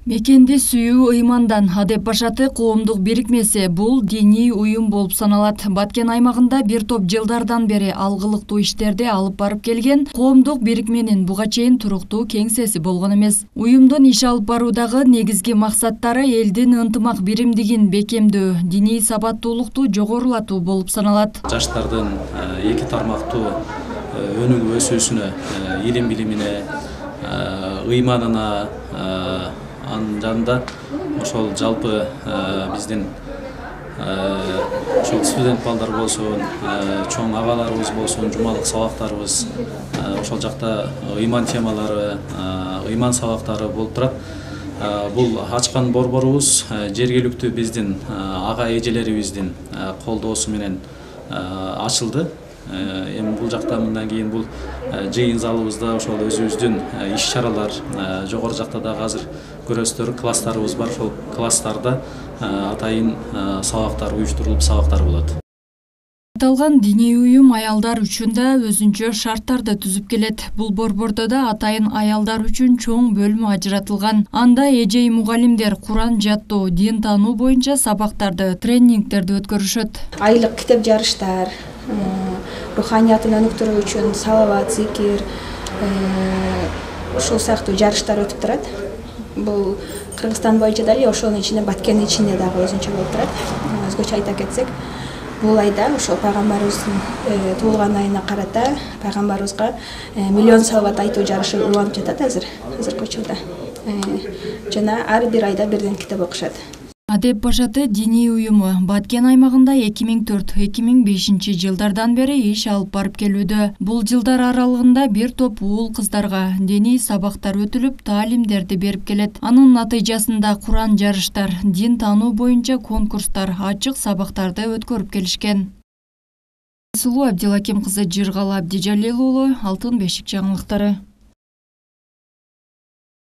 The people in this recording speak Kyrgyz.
Мекенди сүйүү ыймандан Адеп Башаты коомдук бирикмеси бул диний уюм болуп саналат. Баткен аймагында бир топ жылдардан бери алгылыктуу иштерди алып барып келген коомдук бирикменин буга чейин туруктуу кеңсеси болгон эмес. Уюмдун иш алып баруудагы негизги максаттары элдин ынтымак биримдигин бекемдөө, диний сабаттуулукту жогорулатуу болуп саналат. Жаштардын эки тармактуу өнүгүп өсүүсүнө, илим билимине, ыйманына, анын жанында ошол жалпы биздин ошол студент балдар болсун, чоң агаларыбыз болсун, жумалык сабактарыбыз ошол жакта ыйман темалары, ыйман сабактары болуп турат. Бул ачкан борборубуз жергиликтүү биздин ага эжелерибиздин колдоосу менен ачылды. Эми бул жакта мындан кийин бул жыйын залыбызда ошол өзүбүздүн иш-чаралар, жогору жакта дагы азыр көрөсүздөр класстарыбыз бар. Ошол класстарда атайын сабактар уюштурулуп сабактар болот. Аталган диний уюм аялдар үчүн да өзүнчө шарттарды түзүп келет. Бул борбордо да атайын аялдар үчүн чоң бөлмө ажыратылган. Анда эжей мугалимдер Куран жаттоо, дин таануу боюнча сабактарды, тренингтерди өткөрүшөт. Айлык китеп жарыштар, руханиятын өнүктүрүү үчүн салават, зикир, ушул сыяктуу жарыштар өтүп турат. Бул Кыргызстан боюнча да эле, ошонун ичинде Баткендин ичинде дагы өзүнчө болуп турат. Өзгөчө айта кетсек, бул айда ошол пайгамбарыбыздын туулган айына карата пайгамбарыбызга миллион салават айтуу жарышы уланып жатат азыркы учурда. Жана ар бир айда бирден китеп окушат. Адеп Башаты диний уюму Баткен аймагында 2004-2005 жылдардан бери иш алып барып келүүдө. Бул жылдар аралыгында бир топ уул кыздарга диний сабактар өтүлүп, таалимдерди берип келет. Анын натыйжасында Куран жарыштар, дин таануу боюнча конкурстар, ачык сабактарды өткөрүп келишкен. Сулуу Абдилаким кызы, Жыргал Абдижалил уулу, Алтын бешик жаңылыктары.